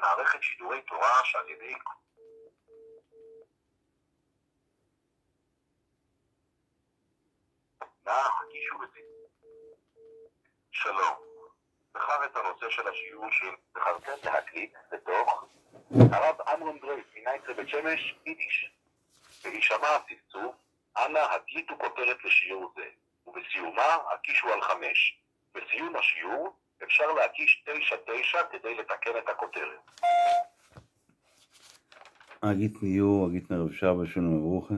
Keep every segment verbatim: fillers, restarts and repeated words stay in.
למערכת שידורי תורה שעל ידי נא הקישו את שלום. בחר את הנושא של השיעור של בחרתם להקליט בתוך הרב עמרם גרויס מנייטרא בית שמש, יידיש. בהישמע הצפצוף, אנא הקליטו כותרת לשיעור זה, ובסיומה הקישו על חמש. בסיום השיעור אפשר להקיש תשע תשע כדי לתקן את הכותרת. א גוטן יאר, א גוטן ערב שבת, שלום וברכה.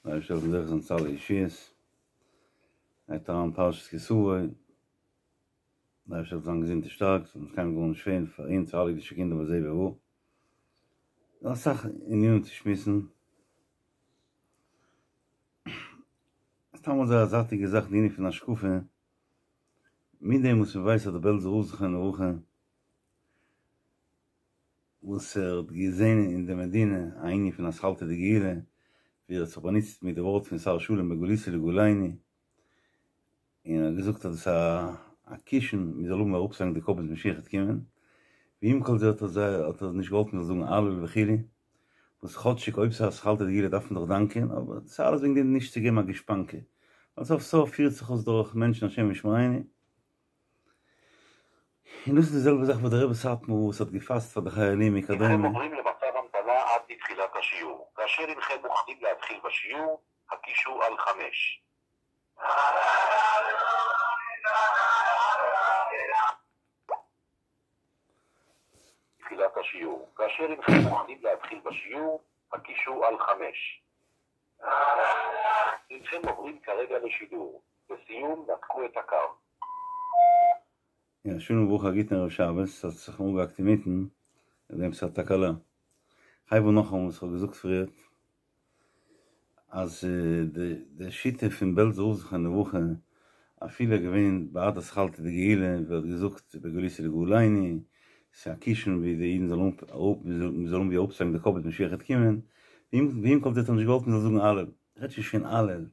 דער אייבערשטער זאל זוכה זיין צו אלע ישועות. גייט אריין פרשת כי תבוא. דער אייבערשטער זאל זיין געזונט און שטארק, ס'זאל אונז קיינמאל גארנישט פעלן פאר אונז פאר אלע אידישע קינדער בזה ובבא. דא אסאך ענינים צו שמועסן. סתם אזוי א זייטיגע זאך די ענין פון השקפה, מיט דעם וואס מ'ווייסט אז דער בעלזער רב זכרונו לברכה וואס ער האט געזען אין די מדינה א ענין פון אתחלתא דגאולה, ווי ער האט זיך באנוצט מיט די ווארט פון שר שלום בגלותא לגאולנו, און ער האט געזאגט אז דאס איז א קישן מען זאל האבן אראפצולייגן די קאפ ביז משיח וועט קומען, ועם כל זה האט ער זיי האט ער נישט געוואלט מען זאל זאגן הלל וכו', וואס כאטשיג אויב ס'איז אתחלתא דגאולה דארף מען דאך דאנקען, אבער דאס איז אלעס וועגן דעם נישט צו געבן א גושפנקא, ווייל סוף סוף פירט זיך אויס דורך מענטשן השם ישמרינו. און דאס איז די זעלבע זאך וואס דער רבי סאטמאר וואס האט געפאסט פאר די חיילים וכדומה. הנכם עוברים למצב המתנה עד לתחילת השיעור, כאשר הנכם מוכנים להתחיל בשיעור, הקישו על חמש. תחילת השיעור, כאשר הנכם מוכנים להתחיל בשיעור, הקישו על חמש. הנכם עוברים כרגע לשידור, לסיום נתקו את הקו. יא, שלום וברכה א גוטן ערב שבת, ס'האט זיך אנגעהאקט אינמיטן, וועגן עפעס א תקלה. כ'הייב אן נאכאמאל וואס כ'האב געזאגט פריערט, אז די שיטה פון בעלזער רב זכרונו לברכה, אפילו ער געווען בעד אתחלתא דגאולה, ווי ער האט געזאגט בגלותא לגאולנו, ס'איז א קישן ווי די אידן זאלן אראפ, מ'זאל האבן ווי אראפצולייגן די קאפ ביז משיח וועט קומען, ועם כל זה האט ער נישט געוואלט מ'זאל זאגן הלל. רעדט נישט פון הלל,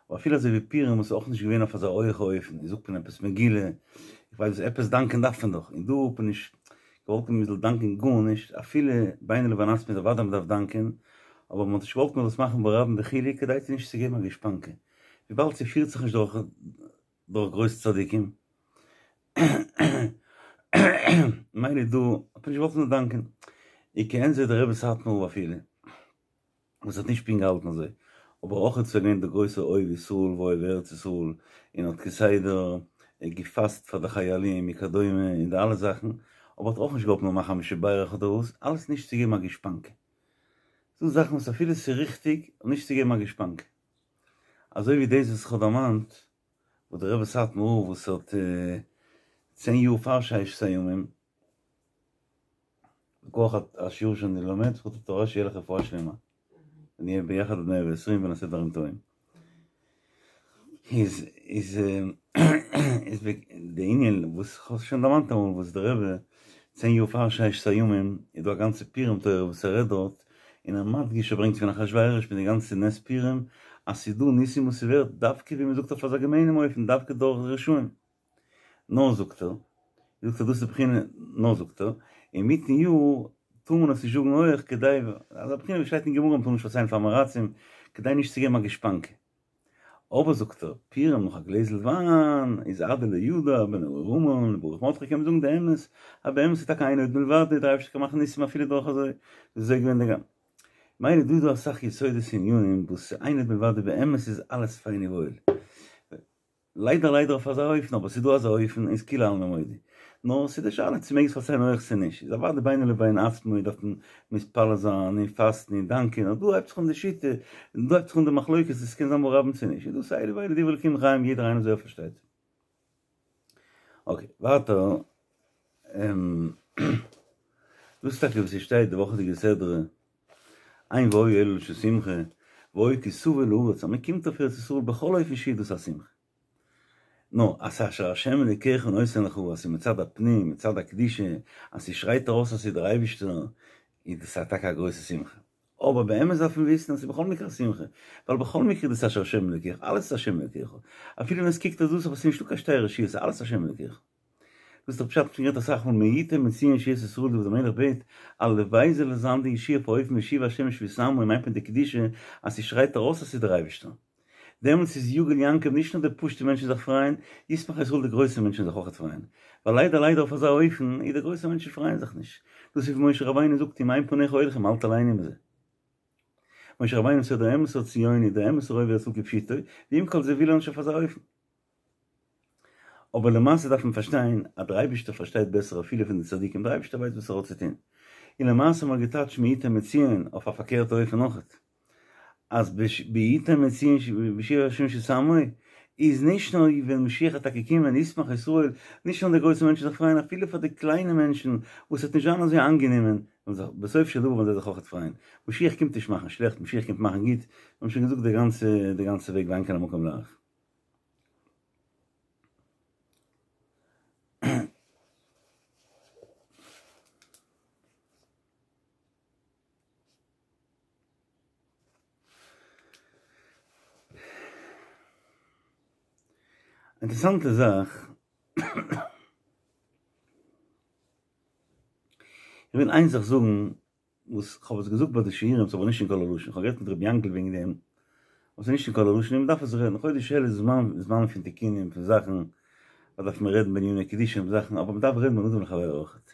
אבער אפילו אזוי ווי פורים וואס איז אויך נישט געווען אויף אזא הויעכע אופן, זאגט מען עפעס מגילה, איך ווייס וואס, עפעס דאנקען דארף מען דאך, און דא האט מען נישט געוואלט מען זאל דאנקען גארנישט, אפילו בינו לבין עצמו איז אוודאי מען דארף דאנקען, אבער מען האט נישט געוואלט מען זאל עס מאכן ברבים וכו' כדי צו נישט צו געבן א גושפנקא, וויבאלד ס'פירט זיך נישט דורך דורך גרויסע צדיקים, מילא דא האט מען נישט געוואלט מען זאל דאנקען, וכעין זה דער רבי סאטמאר אפילו. וואס האט נישט פונקט געהאלטן אזוי, אבער אויך איז ער געווען דער גרויסער אוהב ישראל ואוהב ארץ ישראל, און האט כסדר געפאסט פאר די חיילים וכדומה און די אלע זאכן, אבער האט אויך נישט געוואלט מ'זאל מאכן א מי שברך אדער וואס, אלעס נישט צו געבן א גושפנקא. ס'דא זאכן וואס אפילו ס'איז ריכטיג, נישט צו געבן א גושפנקא. אזוי ווי דאס וואס איך האב דערמאנט, וואס דער רבי סאטמאר רב וואס האט צען יאר פאר ששת הימים, מכח השיעור שאני לומד, זכות התורה שיהיה לך רפואה שלמה. ונהיה ביחד עד מאה ועשרים ונעשה דברים טובים. איז איז איז די ענין וואס כ'האב שוין דערמאנט אמאל וואס דער רבי צען יאר פאר ששת הימים איז דא א גאנצע פורים תורה וואס ער רעדט דארט און ער מדגיש ער ברענגט פון אחשורוש מיט די גאנצע נס פורים אז ס'איז דא ניסים וואס ס'ווערט דווקא ווי מ'זאגט אויף אזא געמיינעם אופן דווקא דורך רשעים. נאר זאגט ער, זאגט ער דאס איז בחינה, נאר זאגט ער, אינמיטן יאר טאר מען עס נישט זאגן הויעך כדי, אזא בחינה ווי שטייט אין גמרא מ'טאר נישט פארציילן פאר עם הארצים, כדי נישט צו געבן א גושפנקא. אבער זאגט ער, פורים נאך א גלעזל וויין, איז עד דלא ידע, בין ארור המן לברוך מרדכי קען מען זאגן די אמת, אז באמת איז טאקע אין עוד מלבדו, דער אייבערשטער קען מאכן ניסים אפילו דורך אזוי, אזוי געווען די גמ'. מילא דא איז דא אסאך יסודות און ענינים וואס אין עוד מלבדו באמת איז אלעס פיין און וואויל. ליידער ליידער אויף אזא אופן, אבער ס'איז דא אזא אופן און ס'כולי עלמא מודי. נאר ס'איז די שאלה צו מ'מעג עס פארציילן הויעך צו נישט. איז אוודאי בינו לבין עצמו דארף מען מתפלל זיין און פאסטן און דאנקען, אבער דא הייבט זיך אן די שיטה, און דא הייבט זיך אן די מחלוקת צו ס'קען זיין ברבים צו נישט. איז דאס אלו ואלו דברי אלקים חיים יעדער איינער אזוי ער פארשטייט. אקעי, ווייטער. דאס איז טאקע וואס ס'שטייט די וואכעדיגע סדרה. אין והיה אלא לשון שמחה, והיה כי תבוא אל הארץ, אז מען קומט אויף ארץ ישראל בכל אופן שיהיה דאס א שמחה. נאר אז אשר ה' אלוקיך נותן לך, אז ס'איז מצד הפנים, מצד הקדושה, אז ס'שרייט ארויס אז ס'איז דער אייבישטער, איז דאס טאקע א גרויסע שמחה. אבער באמת דארף מען וויסן אז ס'איז בכל מקרה א שמחה, ווייל בכל מקרה איז דאס אשר ה' אלוקיך, אלעס איז ה' אלוקיך, אפילו ווען עס קוקט אויס דאס אבער ס'איז נישטא קיין שתי רשויות, ס'איז אלעס ה' אלוקיך. דאס איז דאך פשט שוין גערעדט אסאך מאל מי יתן מציון ישועת ישראל דוד המלך בעט הלוואי זאל עס זיין די ישועה אויף אן אופן והשיב השם את שבות עמו מיינט מען די קדושה אז ס'שרייט ארויס אז ס'איז דער אייבערשטער דעמאלטס איז יגל יעקב נישט נאר די פשוטע מענטשן זיך פרייען, ישמח ישראל די גרויסע מענטשן זיך אויכעט פרייען, ווייל ליידער ליידער אויף אזא אופן איז די גרויסע מענטשן פרייען זיך נישט, דאס איז ווי משה רבינו זאגט אם אין פניך הולכים אל תעלנו בזה. משה רבינו איז דער אמת'ער ציוני, דער אמת'ער אוהב ישראל כפשוטו, ועם כל זה וויל ער נישט אויף אזא אופן. אבער למעשה דארף מען פארשטיין אז דער אייבערשטער פארשטייט בעסער אפילו פון די צדיקים, דער אייבערשטער ווייסט וואס ער האט צו טון, און למעשה האט מען געטייטשט מי יתן מציון אויף א פארקערטע אופן אויכעט. אז מי יתן מציון והשיב השם שבות עמו איז נישט נאר ווען משיח וועט טאקע קומען ישמח ישראל, נישט נאר די גרויסע מענטשן זיך פרייען אפילו פאר די קליינע מענטשן וואס וועט נישט זיין אזוי איינגענומען וועלן זיך בסוף של דבר וועלן זיי זיך אויכעט פרייען, משיח קומט נישט מאכן שלעכט משיח קומט מאכן גוט, מיר האבן שוין געזאגט די גאנצע די גאנצע וועג ואין כאן המקום להאריך. אינטערעסאנטע זאך, איך וויל איין זאך זאגן וואס כ'האב עס געזאגט ביי די שיעורים ס'איז אבער נישט אין קול הלשון, כ'האב גערעדט מיט רבי יענקל וועגן דעם, אבער ס'איז נישט אין קול הלשון און מ'דארף עס רעדן, חודש אלול איז זמן זמן פון תיקונים פון זאכן, דא דארף מען רעדן בעניני קדושה און זאכן, אבער מ'דארף רעדן בין אדם לחבירו אויכעט.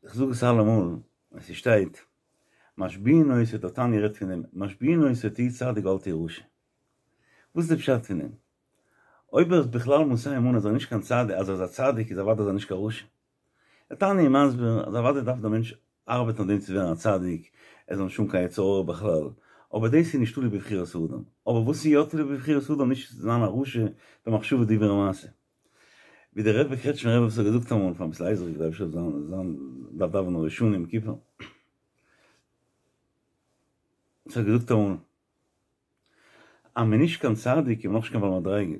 כ'זאג עס אלעמאל, אז ס'שטייט משביעין אותו, דער תניא רעדט פון דעם, משביעין אותו תהי צדיק ואל תהי רשע. וואס איז די פשט פון דעם? אויב ער איז בכלל מושא אמונה אז ער איז נישט קיין צדיק, אז ער איז א צדיק איז אוודאי אז ער איז נישט קיין רשע. דער תניא איז מסביר אז אוודאי דארף דער מענטש ארבעטן אויף דעם צו ווערן א צדיק, ער זאל נישט האבן קיין יצר הרע בכלל, אבער דאס איז נישט תלוי בבחירת האדם. אבער וואס איז יא תלוי בבחירת האדם? נישט צו זיין א רשע במחשבה דיבור ומעשה. ווי דער רבי קרעטשמער רבי וואס האט געזאגט אמאל פאר ר' לייזער איך דארף זיין זיין דארף דאווענען ראש השנה יום כיפור ער האט געזאגט אמאל אז מען נישט קיין צדיק איז מען נאכנישט קיין בעל מדריגה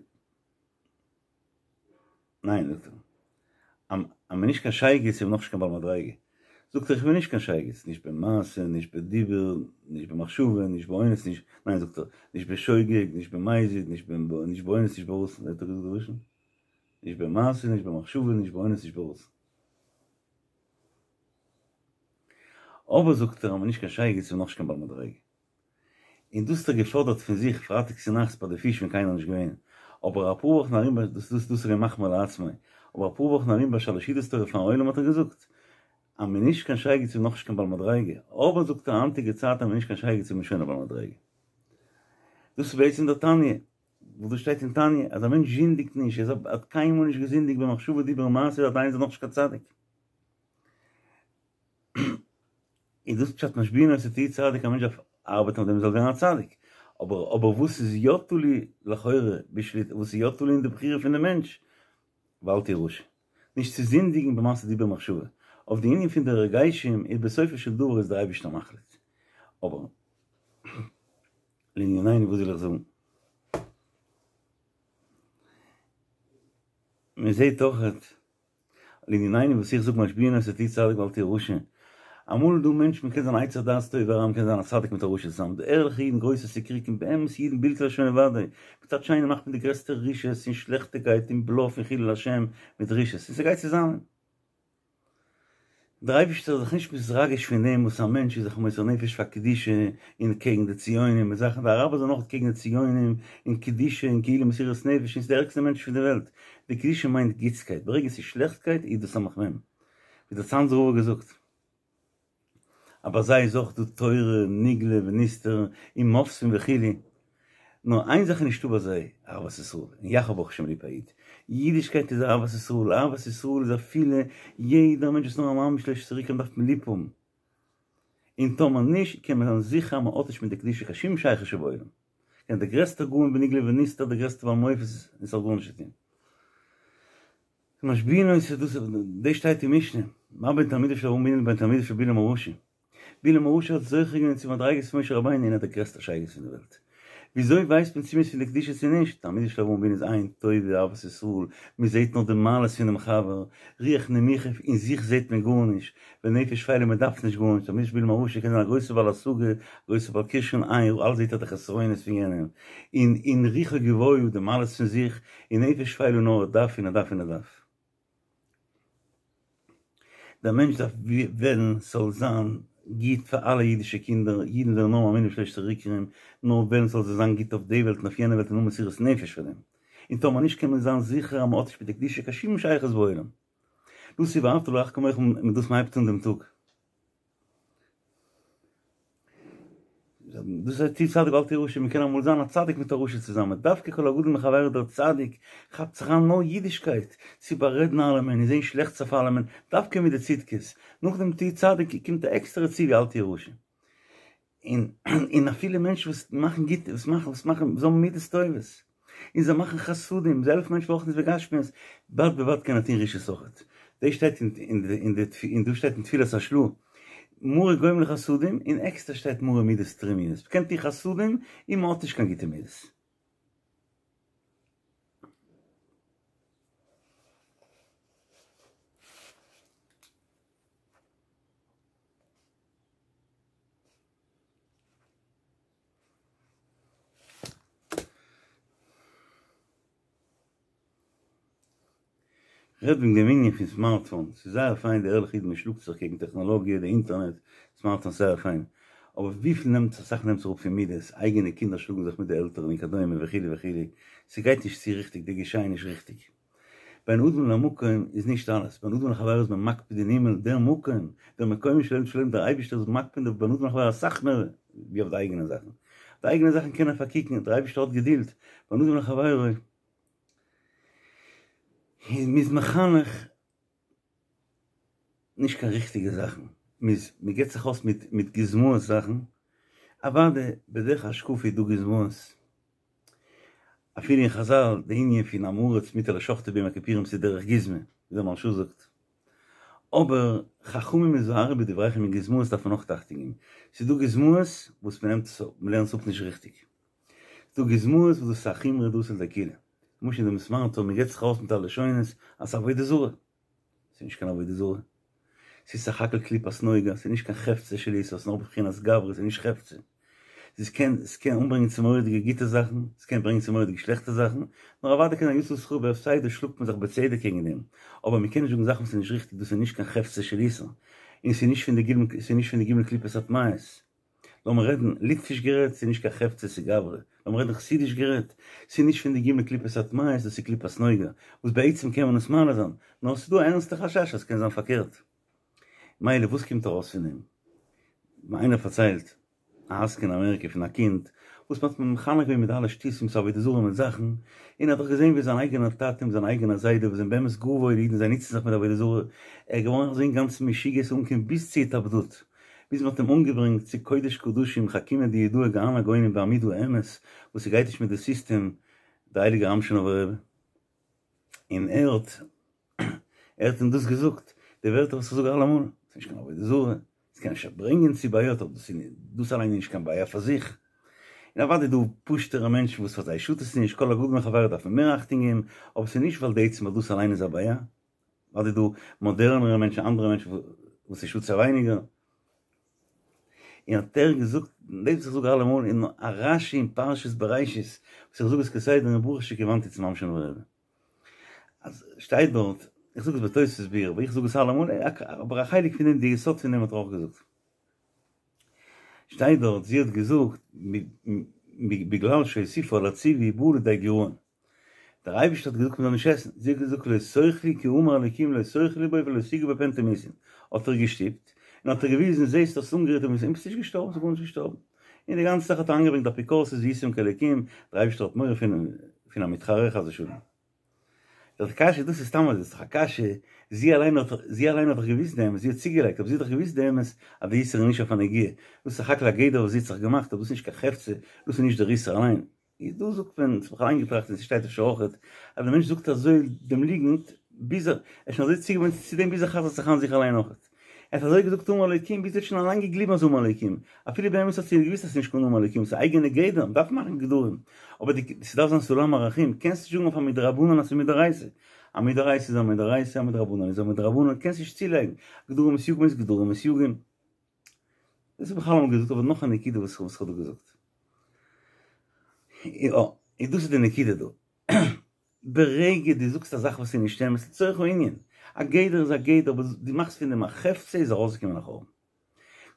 ניין זאגט ער אז מען נישט קיין שייגעץ איז מען נאכנישט קיין בעל מדריגה זאגט ער איך בין נישט קיין שייגעץ נישט במעשה נישט בדיבור נישט במחשבה נישט באונס נישט ניין זאגט ער נישט בשוגג נישט במזיד נישט נישט באונס נישט ברצון האט ער געזאגט די לשון נישט במעשה נישט במחשבה נישט באונס נישט ברצון אבער זאגט ער אז מען נישט קיין שייגעץ איז מען נאכנישט קיין בעל מדריגה און דאס האט ער געפאדערט פון זיך פרייטאג צונאכטס ביי די פיש ווען קיינער נישט געווען, אבער אפאר וואכן ארום ביי דאס דאס דאס איז געווען מחמיר לעצמו, אבער אפאר וואכן ארום ביי שלש סעודות תורה פארן עולם האט ער געזאגט אז מען נישט קיין שייגעץ איז נאכנישט קיין בעל מדריגה, אבער זאגט ער היינטיגע צייט אז מען נישט קיין שייגעץ איז מען שוין א בעל מדריגה. דאס איז בעצם דער תניא, וואס דאס שטייט אין תניא אז א מענטש זינדיגט נישט, ער האט קיינמאל נישט געזינדיגט במחשבה דיבור ומעשה עדיין איז ער נאכנישט קיין צדיק. איז דאס פשט משביעין אותו תהי צדיק א מענטש דארף ארבעטן אויף דעם ער זאל ווערן א צדיק, אבער אבער וואס איז יא תלוי לכאורה בשליט וואס איז יא תלוי אין די בחירה פון די מענטש ואל תהי רשע נישט צו זינדיגן במעשה דיבור מחשבה אויף די ענין פון די הרגשים איז בסופו של דבר איז דער אייבערשטער מחליט אבער לענינינו וואס וויל איך זאגן מען זעט אויכעט לענינינו וואס איך זאג משביעין אותו תהי צדיק ואל תהי רשע, אמאל איז דא מענטשן מען קען זיין עץ הדעת טוב ורע מען קען זיין א צדיק מיט א רשע צוזאמען, די ערליכע אידן גרויסע סיקריקים באמת אידן בלתי להשם לבדו, מצד שני מאכט מען די גרעסטע רשעות און שלעכטיגקייט און בלאף און חילול השם מיט רשעות און ס'גייט צוזאמען. דער אייבערשטער איז זיך נישט מתרגש פון דעם וואס א מענטש איז זיך מוסר נפש פאר קדושה און קעגן די ציונים און זאכן, די אראבער זענען אויך קעגן די ציונים און קדושה און כאילו מסירות נפש און ס'איז די ערגסטע מענטש פון די וועלט, די קדושה מיינט גוטסקייט, ברגע ס'איז שלעכטקייט איז דאס סמך מם, ווי דער צאנזער רב האט געזאגט. אז ביי זיי איז אויך דא תורה נגלה ונסתר און מופתים וכו', נאר איין זאך איז נישטא ביי זיי, אהבת ישראל, און יאך האב ברוך השם ליב א איד, אידישקייט איז אהבת ישראל, אהבת ישראל איז אפילו יעדער מענטש וואס נאר א ממש לשון צוריק אים דארף מען ליב האבן, און טאמער נישט קען מען זיין זיכער אז מען האט נישט מיט די קדושה קיין שום שייכות שבעולם, קען דער גרעסטער גאון בנגלה ונסתר דער גרעסטער בעל מופת און ס'זאל גארנישט טון. משביעין אותו דאס דאס שטייט אין משנה, מה בין תלמידיו של אברהם אבינו לבין תלמידיו של בלעם הרשע, בלעם הרשע האט זוכה געווען צו מדריגות פון משה רבינו און ער איז דער גרעסטער שייגעץ פון די וועלט. וויאזוי ווייסט מען צו מ'איז פון די קדושה צו נישט? תלמידיו של אברהם אבינו איז עין טובה אהבת ישראל, מ'זעט נאר די מעלות פונעם חבר, רוח נמוכה, אין זיך זעט מען גארנישט, ונפש שפלה מ'דארף נישט גארנישט, תלמידיו של בלעם הרשע קען זיין א גרויסער בעל השגה, א גרויסער בעל כשרון, עין רעה, אלץ זעט ער די חסרונות פון יענעם, און און רוחו גבוהה די מעלות פון זיך, און נפש שפלה נאר ער דארף און ער דארף און ער דארף. דער מענטש דארף וועלן ס'זאל זיין גוט פאר אלע אידישע קינדער, אידן זענען נאר מאמינים בשלושת העיקרים, נאר וועלן ס'זאל זיי זיין גוט אויף די וועלט און אויף יענע וועלט און האבן מסירות נפש פאר דעם. און טאמער נישט קען מען זיין זיכער אז מ'האט נישט מיט די קדושה קיין שום שייכות בעולם. דאס איז ואהבת לרעך כמוך מיט דאס מ'הייבט אן דעם טאג. דאס הייסט תהי צדיק ואל תהי רשע, מ'קען אמאל זיין א צדיק מיט א רשע צוזאמען, דווקא כל הגדול מחבירו דער צדיק כאפט זיך אריין נאר אידישקייט, צו בארעדן אלעמען און זען שלעכטס אויף אלעמען, דווקא מיט די צדקות, נאכדעם תהי צדיק קומט א עקסטערע ציווי אל תהי רשע. און און אפילו מענטשן וואס מאכן גוט, וואס מאכן וואס מאכן, זיי האבן מידות טובות, און זיי מאכן חסדים, זיי העלפן מענטשן ברוחניות ובגשמיות, בד בבד קען ער טון רשעות אויכעט. דאס שטייט אין די אין די און דא שטייט אין תפילת השל"ה, מרא גומלי חסדים, און עקסטער שטייט מרא מידות טרוניות, מ'קען טון חסדים און מ'האט נישט קיין גוטע מידות. כ'רעד וועגן דעם ענין פון סמארטפאון, ס'איז זייער פיין די ערליכע אידן מ'שלאגט זיך קעגן טעכנאלאגיע, די אינטערנעט, סמארטפאון זייער פיין, אבער וויפיל נעמט אסאך נעמט זיך אראפ פון מידות, אייגענע קינדער שלאגן זיך מיט די עלטערן וכדומה וכו' וכו', ס'גייט נישט צו ריכטיג, די גישה איז נישט ריכטיג. בין אדם למקום איז נישט אלעס, בין אדם לחברו איז מען מקפיד אין הימל, דער מקום, דער מקום של שלם, דער אייבערשטער איז מקפיד אויף בין אדם לחברו אסאך מער ווי אויף די אייגענע זאכן, די אייגענע זאכן קען ער פארקוקן, דער אייבערשטער האט געדולד, בין אדם לחברו איז מ'איז מחנך נישט קיין ריכטיגע זאכן, מ'איז מ'געט זיך אויס מיט מיט גוזמאות זאכן, אוודאי בדרך השקפה איז דא גוזמאות, אפילו אין חזל די ענין פון עם הארץ מותר לשחטו ביום הכיפורים ס'איז דרך גוזמא, ווי דער מהרש"א זאגט, אבער חכמים הזהרו בדבריכם אין גוזמאות דארף מען אויך אכטונג געבן, ס'איז דא גוזמאות וואס מ'נעמט עס אפ, מ'לערנט עס אפ נישט ריכטיג, ס'איז דא גוזמאות וואס דאס איז א חומרא דאתא לידי קולא, למשל אין דעם סמארטפאון מ'געט זיך אויס מיט א לשונות אז ס'איז עבודה זרה, ס'איז נישט קיין עבודה זרה, ס'איז סך הכל קליפת נוגה, ס'איז נישט קיין חפצא של איסור, ס'איז נאר בבחינת גברא, ס'איז נישט חפצא. ס'קען ס'קען אנברענגען צו מורא'דיגע גוטע זאכן, ס'קען ברענגען צו מורא'דיגע שלעכטע זאכן, נאר אוודאי קען זיין יצא שכרו בהפסדו שלאגט מען זיך בצדק קעגן דעם, אבער מ'קען נישט זאגן זאכן וואס איז נישט ריכטיג, דאס איז נישט קיין חפצא של איסור, און ס'איז נישט פון די ג' ס'איז נישט פון די ג' קליפות הטמאות. לאמיר רעדן ליטוויש גערעדט, ס'איז נישט קיין חפצא ס'איז גברא. לאמיר רעדן חסידיש גערעדט, ס'איז נישט פון די ג' קליפות הטמאות, דאס איז קליפת נוגה, וואס בעצם קען מען עס מעלה זיין, נאר ס'איז דא א ערנסטע חשש אז ס'קען זיין פארקערט. מילא וואס קומט ארויס פון דעם? מיר איינער פארציילט א עסקן אין אמעריקע פון א קינד וואס מ'האט אים מחנך געווען מיט אלע שטותים צו עבודה זרה מיט זאכן, און ער האט דאך געזען ווי זיין אייגענער טאטע און זיין אייגענער זיידע וואס זענען באמת גאר וואוילע אידן זיי נוצן זיך מיט עבודה זרה, ער איז געווארן אזוי אינגאנצן משוגע ס'איז אנגעקומען ביז צו התאבדות, ביז מ'האט אים אנגעברענגט צו קודש קדשים חכימא דיהודאי גאון הגאונים בעמוד האמת וואס ס'גייט נישט מיט די סיסטעם די הייליגע אמשינאווער רבי און ער האט ער האט אים דאס געזאגט די ווערטער וואס איך זאג אלעמאל ס'איז נישט קיין עבודה זרה ס'קען אפשר ברענגען צו בעיות אבער דאס איז דאס אליין איז נישט קיין בעיה פאר זיך און אוודאי דא פשוט'ערע מענטשן וואס פאר זיי שאדט עס נישט כל הגדול מחברו דארף מען מער אכטונג געבן אבער ס'איז נישט ווייל די עצם ווייל דאס אליין איז א בעיה אוודאי דא מאדערנערע מענטשן אנדערע מענטשן וואס ס'שאדט זיי ווייניגער. און האט ער געזאגט, דאס וואס איך זאג אלעמאל, אין א רשי אין פרשת בראשית, וואס איך זאג עס כסדר אין ברוך שכיוונתי צום אמשינאווער רבי. אז שטייט דארט, איך זאג עס בתוספות ביאור, אבער איך זאג עס אלעמאל, אבער א חלק פון דעם, די יסוד פון דעם האט ער אויך געזאגט. שטייט דארט, זי האט געזאגט, בגלל שהוסיפה על הציווי בא לידי גרעון. דער אייבערשטער האט געזאגט מען זאל נישט עסן, זי האט געזאגט לא תאכלו כי אמר אלקים לא תאכלו בו ולא תגעו בו פן תמותון, האט ער געשטופט, און האט ער געוויזן זעסט האסט אנגערירט און ביסט נישט געשטארבן, ביסט גארנישט געשטארבן, און די גאנצע זאך האט ער אריינגעברענגט אפיקורסות והייתם כאלקים, דער אייבערשטער האט מורא פון פון א מתחרה חס ושלום. די קשיא דאס איז סתם אזוי, ס'איז דאך א קשיא, זי אליין האט זי אליין האט דאך געוויסט די אמת, זי האט צוגעלייגט, אבער זי האט דאך געוויסט די אמת אז די איסור איז נישט אויף א נגיעה, דאס איז סך הכל א גדר וואס זי האט זיך געמאכט, אבער דאס איז נישט קיין חפצא, דאס איז נישט דער איסור אליין. איז דא זאגט מען, ס'האט מיך אריינגעטראכט און ס'שטייט אפשר אויכעט, אז דער מענטש זאגט אזוי דעם ליגנט, ביז ער איז שוין אזוי צוגעוואוינט צו דעם ביז ער חזר'ט זיך איין זיך אליין אויכעט. ער האט אזוי געזאגט אמר אלוקים ביז ער האט שוין אליין געגליבן אז אמר אלוקים. אפילו באמת האט זי געוואוסט אז ס'איז נישט קיין אמר אלוקים, ס'איז אייגענע גדר, מ'דארף מאכן גדרים. אבער די, ס'דארף זיין סולם ערכים, קענסט נישט זאגן אויף א מדרבנן אז ס'איז מדאורייתא. א מדאורייתא איז א מדאורייתא, א מדרבנן איז א מדרבנן, קענסט נישט צולייגן. גדרים וסייגים איז גדרים וסייגים. דאס האב איך אלעמאל געזאגט אבער נאך א נקודה וואס איך האב דא געזאגט. יא, און דאס איז די נקודה דא. ברגע דו זאגסט א זאך וואס איז נישט אמת, לצורך הענין, א גדר איז א גדר, אבער דו מאכסט פון דעם א חפצא איז ארויסגעקומען א חורבן.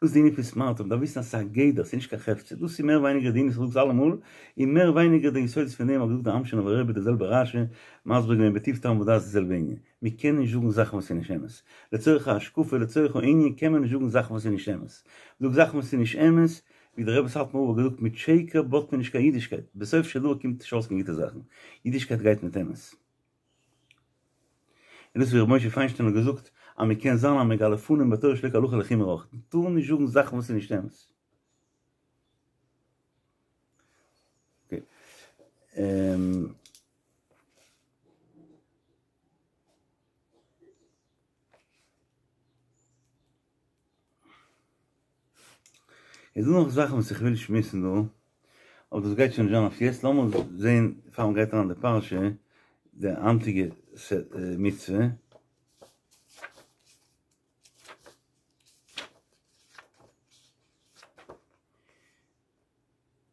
דאס איז די ענין פון סמרטוט, מ'דארף וויסן אז ס'איז א גדר, ס'איז נישט קיין חפצא. דאס איז מער ווייניגער די ענין וואס איך זאג אלעמאל, און מער ווייניגער די יסודות פון דעם האט געזאגט דער אמשינאווער רבי די זעלבע רשי, מסביר געווען בטוב טעם ודעת די זעלבע ענין. מ'קען נישט זאגן זאכן וואס איז נישט אמת. לצורך ההשקפה, לצורך הענין קען מען נישט זאגן זאכן וואס איז נישט אמת. זאג זאכן וואס איז נישט אמת, ווי דער רבי סאטמאר רב האט געזאגט מיט שקר בויט מען נישט קיין אידישקייט, בסוף של דבר קומט נישט ארויס קיין גוטע זאכן, אידישקייט גייט מיט אמת. און דאס ווי ר' משה פיינשטיין האט געזאגט אז מען קען זיין א מגלה פנים בתורה שלא כהלכה לחומרא אויך, מען טאר נישט זאגן זאכן וואס איז נישט אמת. אקעי. איז דא נאך זאכן וואס איך וויל שמועסן דא, אבער דאס גייט שוין נישט זיין אויף יעצט, לאמיר זען פאר מען גייט אריין אין די פרשה, די היינטיגע מצוה.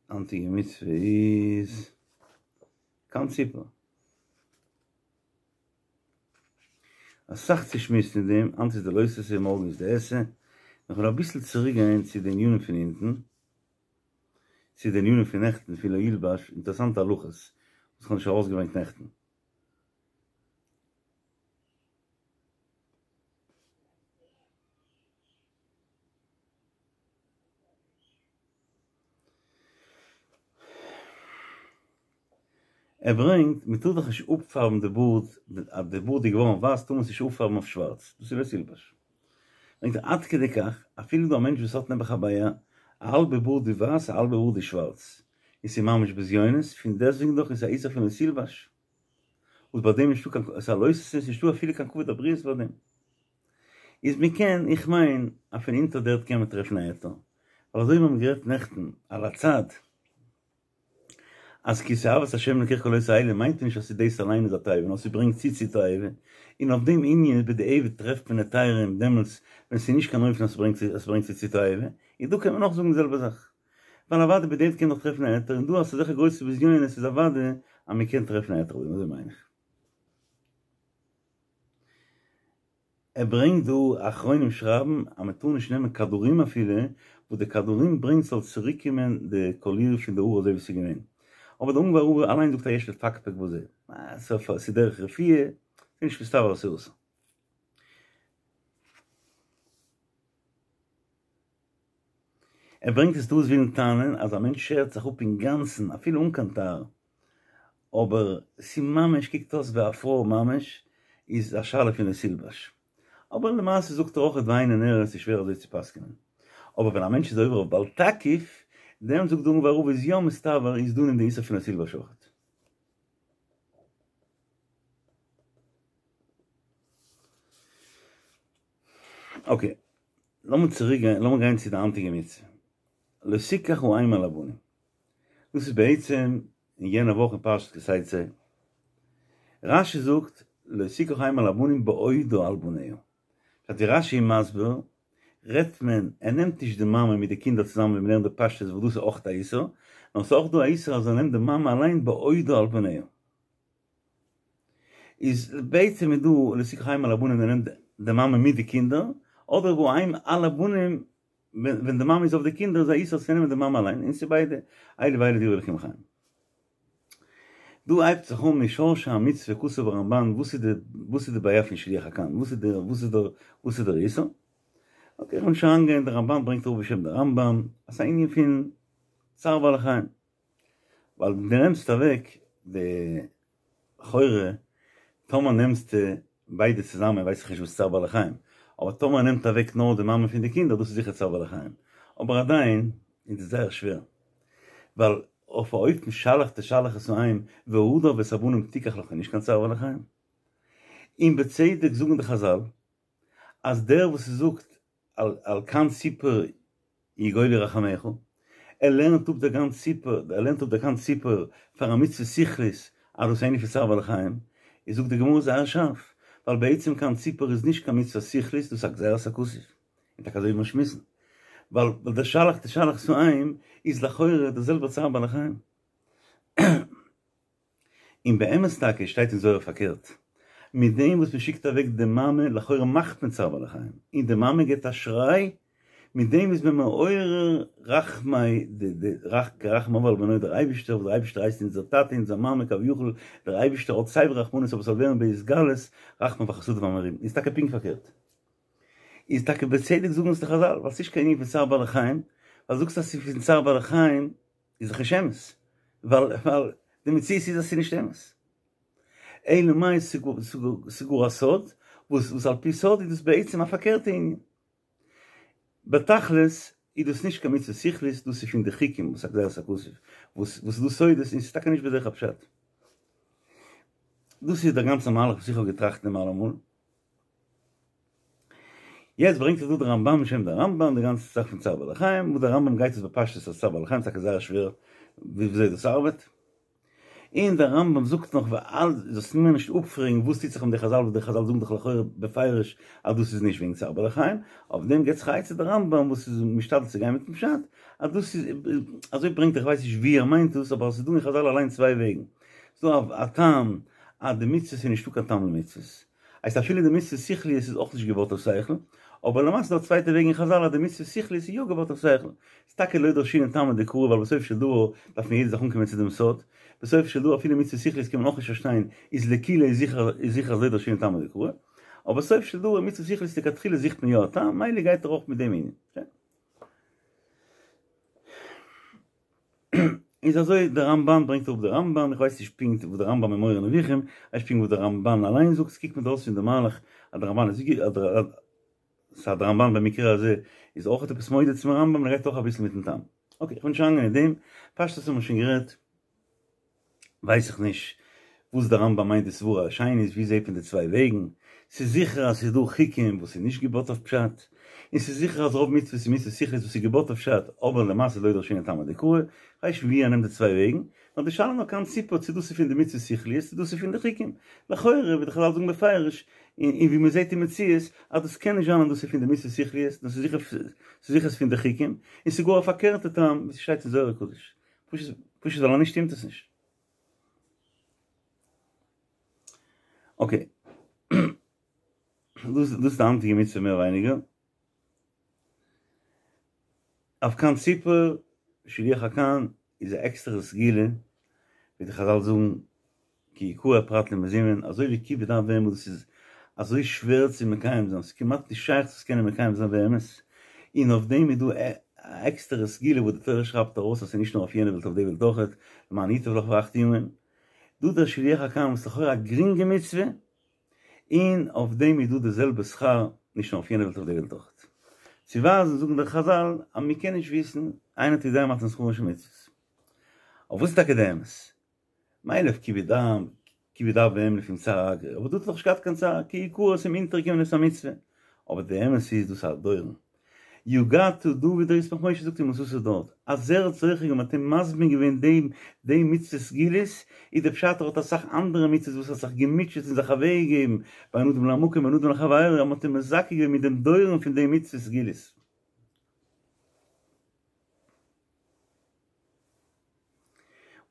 היינטיגע מצוה איז קן ציפור. אסאך צו שמועסן אין דעם, היינט איז די לא תעשה מארגן איז די עשה, נאר כ'וועל אביסל צוריק גיין צו די ענינים פון אונטן, צו די ענינים פון נעכטן פון לא ילבש, אינטערעסאנטע הלכות וואס כ'האב נישט ארויסגעברענגט נעכטן. ער ברענגט, מען טאר דאך נישט אפפארבן די בארד, אז די בארד איז געווארן ווייס טאר מען עס נישט אפפארבן אויף שווארץ, דאס איז לא תלבש. ברענגט ער עד כדי כך, אפילו דא א מענטש וואס האט נעבעך א בעיה, א האלבע בארד איז ווייס א האלבע בארד איז שווארץ, און ס'איז ממש בזיונות, פון דעסטוועגן דאך איז א איסור פון לא תלבש, וואס ביי דעם נישטא קיין, ס'איז א לא תעשה, ס'איז נישטא אפילו קיין כבוד הבריות ביי דעם. איז מען קען, איך מיין אז פון אונטער דער ערד קען מען טרעפן א היתר, ווייל אזוי ווי מיר האבן גערעדט נעכטן על הצד, אז כי תועבת השם אלקיך כל עושה אלה מיינט נישט אז ס'איז דאס אליין איז א תועבה נאר ס'ברענגט צו צו תועבה, און אויף דעם ענין איז בדיעבד טרעפט מען היתרים דעמאלטס ווען ס'איז נישט קיין אופן אז ס'ברענגט אז ס'ברענגט צו צו תועבה, און דא קען מען אויך זאגן די זעלבע זאך, ווייל אוודאי בדיעבד קען מען דאך טרעפן א היתר, און דא אז ס'איז אזעלכע גרויסע בזיונות איז אוודאי אז מ'קען טרעפן א היתר אויף דעם, אזוי מיין איך. ער ברענגט דא אחרונים שרייבן אז מען טאר נישט נעמען כדורים אפילו וואס די כדורים ברענגט ס'זאל צוריק קומען די קאליר פון די האר אזוי ווי ס'איז געווען, אבער די אונגוואר רב אליין זאגט אז יש לפקפק בזה, ס'איז דרך רפואה, ס'איז נישט מסתבר אז ס'איז אסור. ער ברענגט עס דא וואס ווילן טענה'ן אז א מענטש שערט זיך אפ אינגאנצן אפילו אן קיין תער, אבער ס'ממש קוקט אויס ווי א פרוי ממש, איז א שאלה פון לא תלבש. אבער למעשה זאגט ער אויך ואינו נראה ס'איז שווער אזוי צו פסק'נען. אבער ווען א מענטש איז עובר אויף בל תקיף, דעמאלט זאגט דער אונגוואר רב איז יא מסתבר איז דא אין די איסור פון לא תלבש אויכעט. אקעי, לאמיר צוריק גיין, לאמיר גיין צו די היינטיגע מצוה. לא תקח האם על הבנים. דאס איז בעצם אין יענע וואך אין פרשת כי תצא. רשי זאגט לא תקח האם על הבנים בעודה על בניה. פשט ווי רשי איז מסביר, רעדט מען, ער נעמט נישט די מאמע מיט די קינדער צוזאמען ווי מ'לערנט די פשטות וואס דאס איז אויך א איסור, נאר ס'איז אויך דא א איסור אז ער נעמט די מאמע אליין בעודה על בניה. איז בעצם איז דא לא תקח האם על הבנים ווען ער נעמט די מאמע מיט די קינדער, אדער והאם על הבנים ווען די מאמע איז אויף די קינדער איז א איסור צו נעמען די מאמע אליין, און ס'איז ביידע אלו ואלו דברי אלקים חיים. דא הייבט זיך אן משורשי המצוה כתב הרמבן וואס איז די וואס איז די בעיה פון שילוח הקן וואס איז די וואס איז די וואס איז דער איסור, אקעי איך וועל נישט אריינגיין די רמבן ברענגט אראפ בשם די רמבם אז ס'איז א ענין פון צער בעלי חיים. ווייל דו נעמסט אוועק די לכאורה, טאמער נעמסטו ביידע צוזאמען ווייס איך נישט וואס צער בעלי חיים, אבער טאמער נעמט אוועק נאר די מאמע פון די קינדער דאס איז זיכער צער בעלי חיים, אבער עדיין איז עס זייער שווער, ווייל אויף א אופן שלח תשלח את האם והדר ואת הבנים תיקח לך איז נישט קיין צער בעלי חיים, און בצדק זאגן די חזל אז דער וואס זאגט על קן ציפור יגולו רחמיך, ער לערנט אפ די קן ציפור, ער לערנט אפ די קן ציפור פאר א מצוה שכלית, אז דאס איז ענין פון צער בעלי חיים, איז זאגט די גמרא זייער שארף, ווייל בעצם קן ציפור איז נישט קיין מצוה שכלית, דאס איז א גזירת הכתוב, און טאקע אזוי ווי מיר שמועסן, ווייל די שלח תשלח את האם איז לכאורה די זעלבע צער בעלי חיים. און באמת טאקע שטייט אין זוהר פארקערט, מיט דעם וואס מען שיקט אוועק די מאמע, לכאורה מאכט מען צער בעלי חיים, און די מאמע געבט א שריי, מיט דעם איז מען מעורר רחמי די רחם אב על בנו דער אייבישטער, וואס דער אייבישטער הייסט אונזער טאטע אונזער מאמע כביכול, דער אייבישטער האט סיי ווי רחמנות אבער ס'זאל ווערן בהתגלות רחמיו וחסדיו המרובים, איז טאקע פונקט פארקערט. איז טאקע בצדק זאגן עס די חזל, ווייל ס'נישט קיין ענין פון צער בעלי חיים, ווייל זאגסט אז ס'איז פון צער בעלי חיים איז דאך נישט אמת, ווייל ווייל די מציאות איז אז ס'איז נישט אמת. אלא מאי ס'גאר א סוד, וואס וואס על פי סוד איז דאס בעצם א פארקערטע ענין. בתכלית איז דאס נישט קיין מצוה שכלית, דאס איז פון די חוקים וואס א גזירת הכתוב, וואס וואס איז דא סודות און ס'איז טאקע נישט בדרך הפשט. דאס איז דער גאנצער מהלך וואס איך האב געטראכט דעם אלעמאל. יעצט ברענגט ער דא דער רמבן בשם דער רמבן די גאנצע זאך פון צער בעלי חיים, וואס דער רמבם גייט עס בפשטות אז צער בעלי חיים, ס'טאקע זייער שווער וויאזוי דאס ארבעט. און דער רמב ם זאגט נאך ועל זאלסט מיר נישט אפפרעגן וואס טוט זיך מיט די חזל וואס די חזל זאגן דאך לכאורה בפירוש אז דאס איז נישט וועגן צער בעלי חיים, אויף דעם געבט זיך א עצה דער רמב ם וואס איז משתדל צו גיין מיטן פשט אז דאס איז, אזוי ברענגט ער איך ווייס נישט ווי ער מיינט דאס אבער עס איז דא אין חזל אליין צוויי וועגן, ס'איז דא א טעם אז די מצוות איז נישטא קיין טעם למצוות, הייסט אפילו די מצוות שכליות איז אויך נישט געבויט אויף שכל, אבער למעשה איז דא א צווייטע וועג אין חזל אז די מצוות שכליות איז יא געבויט אויף שכל, ס'איז טאקע לא דרשינן טעמא דקרא ווייל בסוף של דבר דארף מען יעדע זאך אנקומען צו דעם סוד, בסוף של דבר אפילו מצוות שכליות קען מען אויך נישט פארשטיין איז לקולא איז זיכער איז זיכער אז לא דרשינן טעמא דקרא, אבער בסוף של דבר מצוות שכליות לכתחילה זוכט מען יא א טעם, מילא גייט ער אויך מיט דעם ענין. איז אזוי דער רמבן ברענגט אראפ דער רמבן, איך ווייס נישט פונקט וואס דער רמבם אין מורה נבוכים, איך ווייס נישט פונקט וואס דער רמבן אליין זאגט, ס'קוקט מיר אויס פון די מהלך אז דער רמבן איז סא דער רמבן במקרה הזה איז אויך עפעס מודה צום רמבם, ער גייט אויך אביסל מיטן טעם. אקעי, איך בין נישט אריינגיין אין דעם, פשטות האבן מיר שוין גערעדט. ווייס איך נישט וואס דער רמב ם מיינט די סברה השנית, ווי זעהט מען די צוויי וועגן? ס'איז זיכער אז ס'איז דא חוקים וואס איז נישט געבויט אויף פשט, און ס'איז זיכער אז רוב מצוות איז מצוות שכלית וואס איז געבויט אויף פשט, אבער למעשה לא דרשינן טעמא דקרא, כ'ווייס נישט ווי ער נעמט די צוויי וועגן, נאר די שאלה נאר קן ציפור צו דאס איז פון די מצוות שכליות צו דאס איז פון די חוקים, לכאורה ווי די חזל זאגן בפירוש, און ווי מ'זעהט אין מציאות, אז דאס קען נישט זיין אז דאס איז פון די מצוות שכליות, דאס איז זיכער ס'איז זיכער פון די חוקים, און ס'איז גאר א פארקערטע טעם ווי ס'שטייט אין זוהר הקדוש. פשוט פשוט ווייל אנישט שטימט עס נישט. אקעי. דאס דאס איז די היינטיגע מצוה מער ווייניגער. אויף קן ציפור, שילוח הקן איז א עקסטערע סגולה, ווי די חזל זאגן כי יקרא פרט למזומן, אזוי ווי כיבוד אב ואם וואס דאס איז אזוי שווער צו מקיים זיין, ס'איז כמעט נישט שייך צו עס קענען מקיים זיין באמת, און אויף דעם איז דא א עקסטערע סגולה וואס די תורה שרייבט ארויס אז ס'איז נישט נאר אויף יענע וועלט אויף די וועלט אויכעט, למען ייטב לך והארכת ימים. דא דער שילוח הקן וואס איז לכאורה א גרינגע מצוה, און אויף דעם איז דא די זעלבע שכר נישט נאר אויף יענע וועלט אויף די וועלט אויכעט. צו ווייזן זאגן די חזל אז מ'קען נישט וויסן, אין אתה יודע מתן שכרן של מצוות. אבער וואס איז טאקע די אמת? מילא אויף כיבוד אב, כיבוד אב ואם לפום צערא אגרא, אבער דא האט ער דאך נישט געהאט קיין צער, כי יקרא עס איז אים אונטערגעקומען עפעס א מצוה, אבער די אמת איז דאס א דורן. יו גאט טו דו ווי דער ישמח משה זאגט אין מסעות דארט, אז ער האט זוכה געווען מ'האט אים מזמין געווען דעם דעם מצוות סגולות, איז די פשט ער האט אסאך אנדערע מצוות וואס ער האט זיך געמוטשעט און זיך אוועק געגעבן בין אדם למקום בין אדם לחבירו, אז מ'האט אים מזכה געווען מיט דעם דורן פון די מצוות סגולות.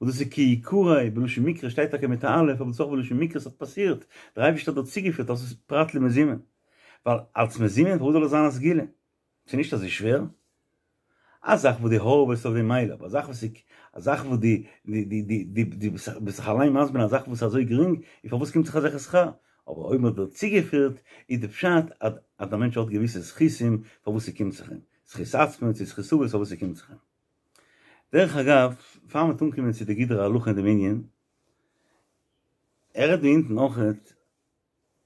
וואס דאס איז כי יקרא בלשון מקרא שטייט טאקע מיט א א' אבער דאס איז אויך בלשון מקרה ס'האט פאסירט, דער אייבערשטער האט דא צוגעפירט אז עס איז פרט למזומן, ווייל אלס מזומן פארוואס זאל עס זיין א סגולה? ס'איז נישט אזוי שווער. א זאך וואס דו הארעוועסט אויף דעם מילא, אבער א זאך וואס איז א זאך וואס דו דו דו דו ביסט זיך אליין מזמין א זאך וואס איז אזוי גרינג, און פארוואס קומט זיך אזעלכע שכר? אבער אויב מ'האט דיר צוגעפירט איז די פשט אז אז דער מענטש האט געוויסע זכותים פארוואס ס'קומט זיך אים, זכות עצמו צו זכות אבות פארוואס ס'קומט זיך אים. דרך אגב, פאר מ'וועט אנקומען צו די גדרי ההלכה אין דעם ענין, ער רעדט דא אונטן אויכעט,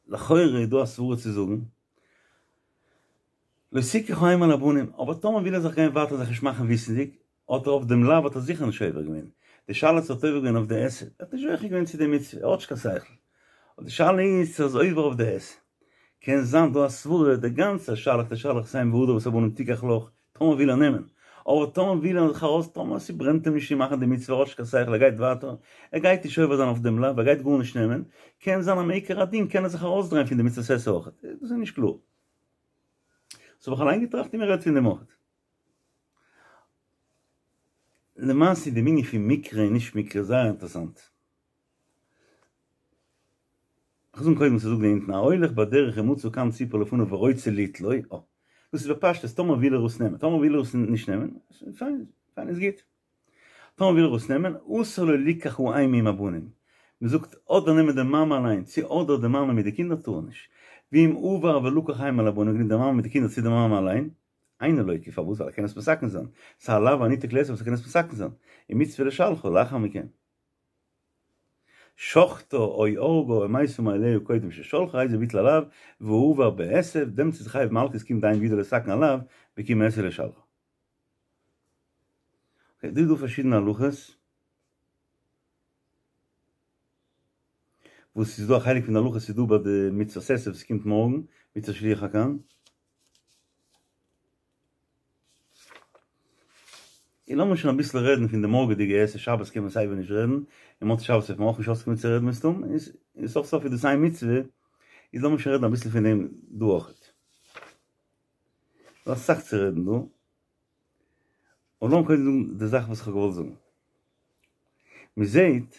לכאורה איז דא א סברה צו זאגן, לא תקחו אם על הבנים, אבער טאמער וויל ער זיך גיין ווייטער זיך נישט מאכן וויסנדיג, האט ער אויף דעם לאו האט ער זיכער נישט עובר געווען, די שאלה צו ער האט עובר געווען אויף די עשה, ער האט נישט זוכה געווען צו די מצוה, ער האט נישט קיין שכל, אבער די שאלה איז צו ער איז עובר אויף די עשה, קען זיין דא א סברה, די גאנצע שלח תשלח את האם והדר ואת הבנים תקח לך, טאמער וויל ער נעמען, אבער טאמער וויל ער זיך ארויס, טאמער ס'ברענט אים נישט צו מאכן די מצוה, ער האט נישט קיין שכל, ער גייט ווייטער, ער גייט נישט עובר זיין אויף דעם לאו, ער גייט גארנישט נעמען, קען זיין אז מעיקר הדין קען ער זיך ארויסדרייען פון די מצוות עשה אויכעט, דאס איז נישט קלאר. דאס האב איך אליין געטראכט און מען רעדט פון דעם אויכעט. למעשה איז די ענין פון מקרה און נישט מקרה זייער אינטערעסאנט. כ'זאג קודם וואס ער זאגט דא אונטן, ההולך בדרך ומצא קן ציפור לפניו ורוצה ליטלו, אה, דאס איז בפשטות, טאמער וויל ער עס נעמען, טאמער וויל ער עס נישט נעמען, פיין, פיין איז גוט. טאמער וויל ער עס נעמען, אסור לו ליקח האם עם הבנים. מען זאגט אדער נעמען די מאמע אליין, צו אדער די מאמע מיט די קינדער טאר ער נישט. ואם עבר ולקח האם על הבנים, גענומען די מאמע מיט די קינדער צו די מאמע אליין, אינו לוקה, פארוואס? ווייל ער קען עס מתקן זיין. ס'איז א לאו הניתק לעשה וואס ער קען עס מתקן זיין. ומצוה לשלחה לאחר מכן. שחטה או הרגה או מתה מאליה קודם ששלחה הרי זה ביטל הלאו והועבר בעשה, דעמאלטס איז חייב מלקות קומט די אם וידו לתקן הלאו בקום עשה לשלחה. אקעי, דא איז דא פארשידענע הלכות, וואס איז דא א חלק פון די הלכות איז דא ביי די מצוות עשה וואס קומט מארגן, מצוות שילוח הקן. און לאמיר שוין אביסל רעדן פון די מארגעדיגע עשה, שבת קען מען סייווי נישט רעדן, און מוצאי שבת וועט מען אויך נישט אויסקומען צו רעדן מסתם, און סוף סוף איז דאס איין מצוה, איז לאמיר שוין רעדן אביסל פון דעם דא אויכעט. ס'דא אסאך צו רעדן דא, אבער לאמיר קודם זאגן די זאך וואס איך האב געוואלט זאגן. מ'זעט,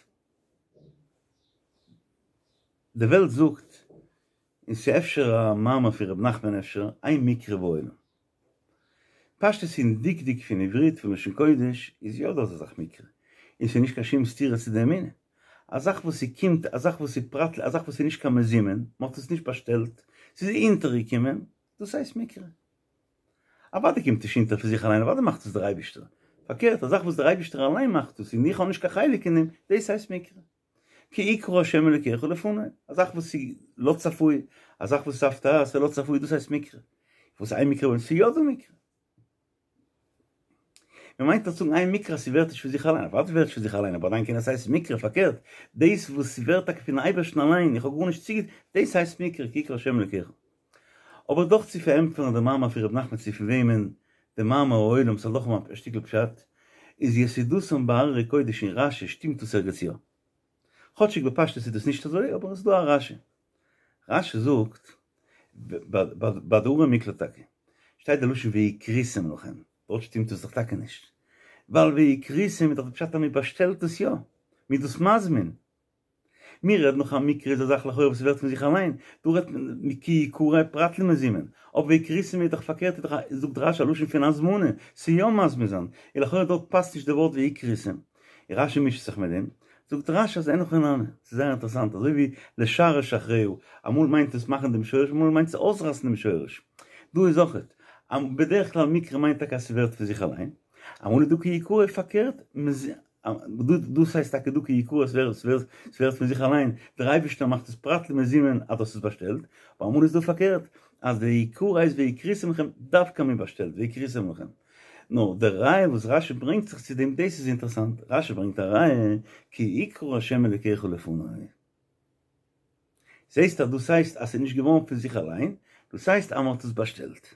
די וועלט זאגט, און ס'איז אפשר א מאמר פון ר' נחמן אפשר, אין מקרה בעולם. פשטות אין דקדוק פון עברית פון לשון קודש איז יא דא אזא זאך מקרה, און ס'איז נישט קיין שום סתירה צו די אמונה. א זאך וואס ס'קומט, א זאך וואס איז פרט, א זאך וואס איז נישט קיין מזומן, מ'האט עס נישט באשטעלט, ס'איז אונטערגעקומען, דאס הייסט מקרה. אוודאי קומט נישט אונטער פון זיך אליין, אוודאי מאכט עס דער אייבישטער. פארקערט, א זאך וואס דער אייבישטער אליין מאכט עס און איך האב נישט קיין חלק אין דעם, דאס הייסט מקרה. כי יקרא השם אלוקיך לפני, א זאך וואס איז לא צפוי, א זאך וואס איז הפתעה, ס'איז לא צפוי, דאס הייסט מקרה. וואס אין מקרה בעולם? ס'איז יא דא מקרה. מען מיינט דאך זאגן אין מקרה אז ס'ווערט נישט פון זיך אליין, אוודאי ווערט נישט פון זיך אליין, אבער עדיין קען עס הייסן מקרה, פארקערט, דאס וואס ס'ווערט טאקע פון אייבערשטן אליין, איך האב גארנישט צוגעטון, דאס הייסט מקרה, כי יקרא השם אלוקיך. אבער דאך צו פארענטפערן די מאמר פון ר' נחמן צו פון וועמען די מאמר העולם ס'זאל דאך האבן א שטיקל פשט, איז יסודתם בהררי קודש אין רשי שטימט דאס ערגעץ יא. כאטשיג בפשטות איז דאס נישט אזוי, אבער עס איז דא א רשי. רשי זאגט, ביי די ערי מקלט טאקע, שטייט די לשון והקריתם לכם, דארט שטימט עס דאך טאקע נישט, ווייל והקריתם איז דאך די פשט אז מען באשטעלט עס יא, מען איז דאס מזמין. מיר רעדן נאך א מקרה איז א זאך לכאורה וואס ווערט פון זיך אליין, דא רעדט מען כי יקרא פרט למזומן, אבער והקריתם איז דאך פארקערט איז דאך זאגט רשי א לשון פון הזמנה, ס'איז יא מזמין זיין, און לכאורה דארט פאסט נישט די ווארט והקריתם. רשי מישט זיך מיט דעם, זאגט רשי אז אין הכי נמי, ס'איז זייער אינטערעסאנט, אזוי ווי לשרש אחריה, אמאל מיינט עס מאכן דעם שורש אמאל מיינט עס אויסרייסן דעם שורש, דא איז אויכעט, בדרך כלל מקרה מיינט טאקע אז ס'ווערט פון זיך אליין, אמאל איז דא כי יקרא פארקערט, דאס הייסט טאקע דא כי יקרא עס ווערט פון זיך אליין, דער אייבערשטער מאכט עס פרט למזומן אז דאס איז באשטעלט, אבער אמאל איז דא פארקערט, אז די יקרא הייסט והקריתם לכם דווקא מען באשטעלט והקריתם לכם. נאר די ראיה וואס רשי ברענגט זיך צו דעם דאס איז אינטערעסאנט, רשי ברענגט א ראיה כי יקרא ה' אלוקיך לפני. זעסט אז דאס הייסט אז ס'איז נישט געווארן פון זיך אליין, דאס הייסט אז מען האט עס באשטעלט.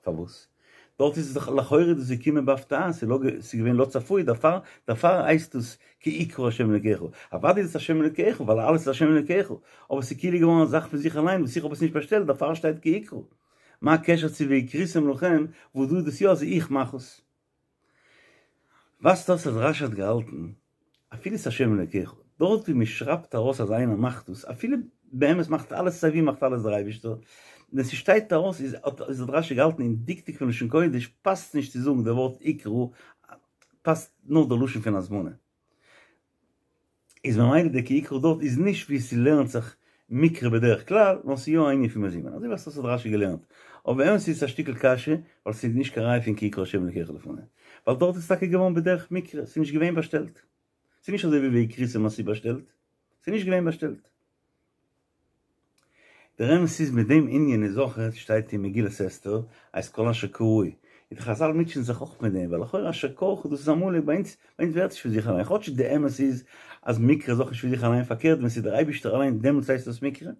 פארוואס? דארט איז עס דאך לכאורה איז דאס געקומען בהפתעה, ס'איז לא ס'איז געווען לא צפוי, דערפאר דערפאר הייסט עס כי יקרא השם אלוקיך, אוודאי איז עס השם אלוקיך ווייל אלעס איז השם אלוקיך, אבער ס'איז כאילו געווארן א זאך פון זיך אליין וואס איך האב עס נישט באשטעלט דערפאר שטייט כי יקרא. מה הקשר צו והקריתם לכם וואס דא איז דאס יא אז איך מאך עס? ווייזט אויס אז רשי האט געהאלטן אפילו ס'איז השם אלוקיך, דארט ווי מ'שרייבט ארויס אז איינער מאכט דאס, אפילו באמת מאכט אלעס סיי ווי מאכט אלעס דער אייבישטער, ווען ס'שטייט ארויס איז האט איז האט רשי געהאלטן אין דקדוק פון לשון קודש פאסט נישט צו זאגן די ווארט יקרא, פאסט נאר די לשון פון הזמנה. איז ממילא די כי יקרא דארט איז נישט ווי ס'לערנט זיך מקרא בדרך כלל, נאר ס'איז יא א ענין פון מזומן, אזוי ווייזט אויס האט רשי געלערנט, אבער באמת איז עס א שטיקל קשיא, ווייל ס'איז נישט קיין ראיה פון כי יקרא השם אלקיך לפני, ווייל דארט איז טאקע געווארן בדרך מקרה, ס'איז נישט געווען באשטעלט, ס'איז נישט אזוי ווי והקריתם אז ס'איז באשטעלט, ס'איז נישט געווען באשטעלט. דער אמת איז מיט דעם ענין איז אויך שטייט אין מגילת אסתר אז כל אשר קראו און די חזל מוטשען זיך אויך מיט דעם ווייל לכאורה אשר קרך דאס איז עמלק ביי אונז ביי אונז ווערט נישט פון זיך אליין כאטש די אמת איז אז מקרה איז אויך נישט פון זיך אליין פארקערט ווען ס'איז דער אייבישטער אליין דעמאלטס הייסט דאס מקרה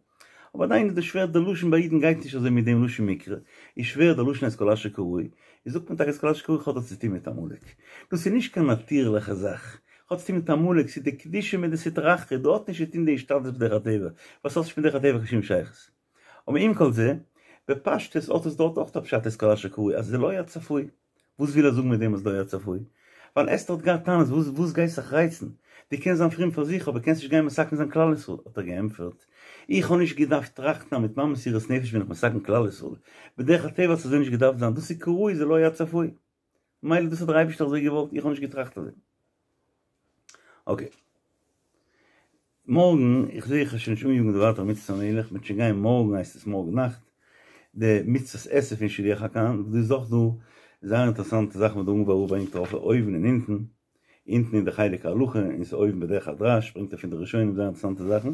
אבער עדיין איז דאס שווער די לשון ביי אידן גייט נישט אזוי מיט דעם לשון מקרה איז שווער די לשון את כל אשר קראו איז זאגט מען טאקע את כל אשר קראו האט דאס צוטון מיט עמלק דאס איז נישט קיין נאטירליכע זאך האט צוטון מיט עמלק, ס'איז די קדושה מיט די סטרא אחרא, דא האט נישט צוטון די השתדלות בדרך הטבע, וואס האט נישט מיט דרך הטבע קיין שום שייכות. אבער עם כל זה, בפשטות האט עס דארט אויך א פשט את כל אשר קראו, אז זה לא היה צפוי. וואס וויל ער זאגן מיט דעם אז לא היה צפוי? ווייל אסתר האט געהאט טענות, וואס וואס גייסט זיך רייצן? דו קענסט זיין פרום פאר זיך, אבער קענסט נישט גיין מתקן זיין כלל ישראל. האט ער געענטפערט, איך האב נישט געדארפט טראכטן אז מיט מיין מסירות נפש בין איך מתקן כלל ישראל. בדרך הטבע האט עס אזוי נישט געדארפט זיין, דאס איז כראוי, זה לא היה צפוי. מילא דאס האט דער אייבערשטער אזוי געוואלט, איך האב נישט געטראכט אזוי. אקעי. מארגן, איך זעה איך וועל שוין נישט אניאגן די ווייטערע מצות המלך, מ'וועט שוין גיין מארגן הייסט עס מארגן נאכט, די מצות עשה פון שילוח הקן, וואס דא איז אויך דא זייער אינטערעסאנטע זאכן וואס דער אונגוואר רב ברענגט ארויף אויבן און אונטן, אונטן אין די חלק ההלכה און ס'איז אויבן בדרך הדרש ברענגט ער פון די ראשונים זייער אינטערעסאנטע זאכן,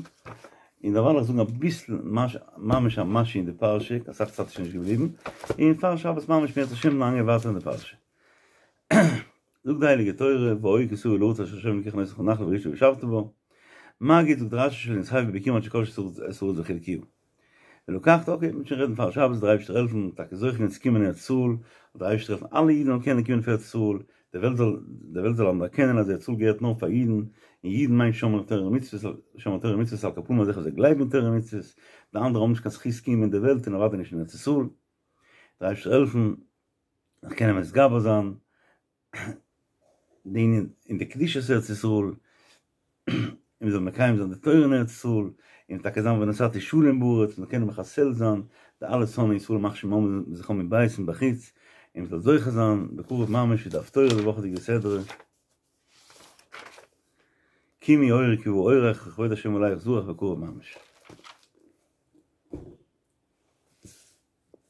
און דערווייל איך זאגן אביסל ממש א משהו אין די פרשה, אסאך צייט איז שוין נישט געבליבן, און פאר שבת ממש אם ירצה השם לאנג ווייטער אין די פרשה. זאגט די הייליגע תורה, והיה כי תבוא אל הארץ אשר ה' אלקיך נותן לך נחלה וירשתה וישבת בה, מגיד זאגט רשי שלא נתחייבו בביכורים עד שכבשו את הארץ וחלקוה. ולקחת, אקעי, מ'וועט שוין רעדן פאר שבת, דער אייבערשטער העלפן, טאקע זוכה זיין צו קומען אין ארץ ישראל, דער אייבערשטער העלפן אלע אידן זאלן קענען קומען אויף ארץ ישראל, די וועלט זאל, די וועלט זאל אנערקענען אז ארץ ישראל געהערט נאר פאר אידן, און אידן מיינט שומרי תורה ומצוות, שומרי תורה ומצוות על כל פנים אזעלכע וואס גלייבן אין תורה ומצוות, די אנדערע האבן נישט קיין זכות קיום אין די וועלט און אוודאי נישט אין ארץ ישראל. דער אייבערשטער העלפן, זיך קענען מתגבר זיין. די ענין אין די קדושת ארץ ישראל, און מ'זאל מקיים זיין די תורה אין ארץ ישראל, און טאקע זיין ונתתי שלום בארץ, מ'זאל קענען מחסל זיין די אלע שונאי ישראל ימח שמם וזכרם מבית ומבחוץ, און מ'זאל זוכה זיין בקרוב ממש ווי די הפטורה די וואכעדיגע סדרה, קומי אורי כי בא אורך וכבוד השם עליך זרח בקרוב ממש.